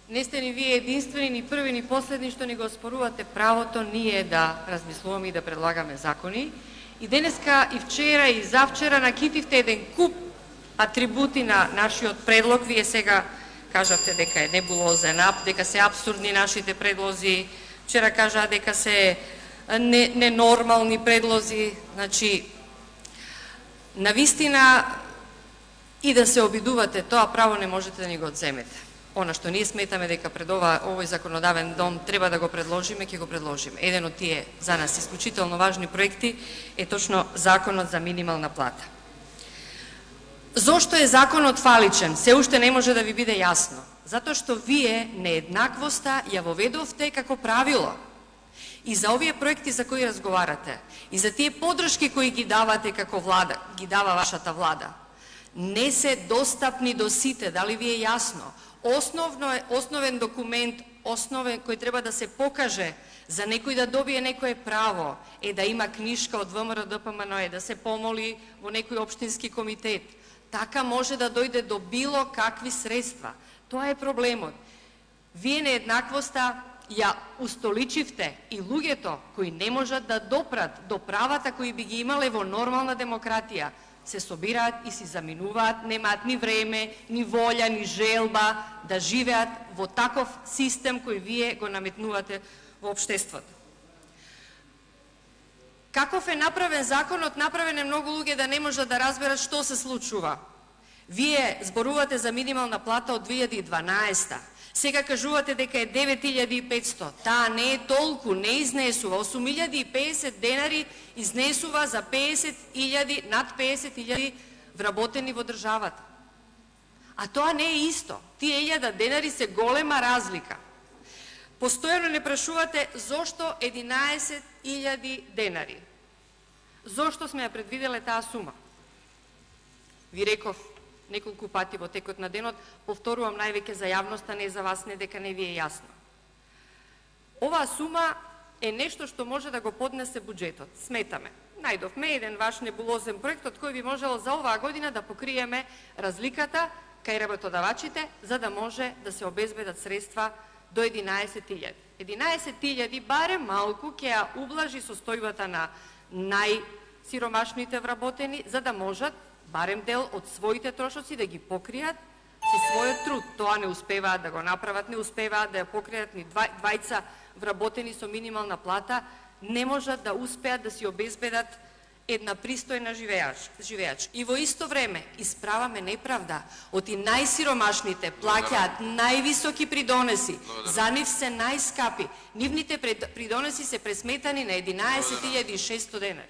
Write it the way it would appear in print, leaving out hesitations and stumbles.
Не сте ни вие единствени, ни први, ни последни што ни го спорувате правото ние да размислуваме и да предлагаме закони. И денеска, и вчера, и завчера накитивте еден куп атрибути на нашиот предлог. Вие сега кажавте дека е небулозен, дека се абсурдни нашите предлози. Вчера кажа дека се ненормални предлози. Значи, навистина и да се обидувате, тоа право не можете да ни го одземете. Она што ние сметаме дека пред овој законодавен дом треба да го предложиме, ќе го предложиме. Еден од тие за нас исклучително важни проекти е точно законот за минимална плата. Зошто е законот фаличен? Се уште не може да ви биде јасно. Затоа што вие нееднаквоста ја воведовте како правило. И за овие проекти за кои разговарате, и за тие подршки кои ги давате како влада, ги дава вашата влада, не се достапни до сите, дали ви е јасно? Основен документ, кој треба да се покаже за некој да добие некое право, е да има книшка од ВМРО ДПМН, да се помоли во некој општински комитет. Така може да дојде до било какви средства. Тоа е проблемот. Вие нееднаквоста ја устоличивте и луѓето кои не можат да допрат до правата кои би ги имале во нормална демократија, се собираат и си заминуваат, немаат ни време, ни волја, ни желба да живеат во таков систем кој вие го наметнувате во општеството. Каков е направен законот? Направен е многу луѓе да не можат да разберат што се случува. Вие зборувате за минимална плата од 2012. Сега кажувате дека е 9500. Таа не е толку, не изнесува. 8050 денари изнесува за 50.000, над 50.000 вработени во државата. А тоа не е исто. Тие 1000 денари се голема разлика. Постојано не прашувате зошто 11.000 денари. Зошто сме ја предвиделе таа сума? Ви реков неколку пати во текот на денот, повторувам највеќе за јавноста, не за вас, не дека не ви е јасно. Оваа сума е нешто што може да го поднесе буџетот. Сметаме. Најдовме еден ваш небулозен проект од кој би можело за оваа година да покриеме разликата кај работодавачите, за да може да се обезбедат средства до 11.000. 11.000 барем малку ќе ја ублажи состојбата на најсиромашните вработени, за да можат барем дел од своите трошоци да ги покријат со својот труд. Тоа не успеваат да го направат, не успеваат да ја покријат ни двајца вработени со минимална плата, не можат да успеат да си обезбедат една пристојна живеач. И во исто време исправаме неправда. Оти најсиромашните плаќаат највисоки придонеси, за нив се најскапи. Нивните придонеси се пресметани на 11.600 денари.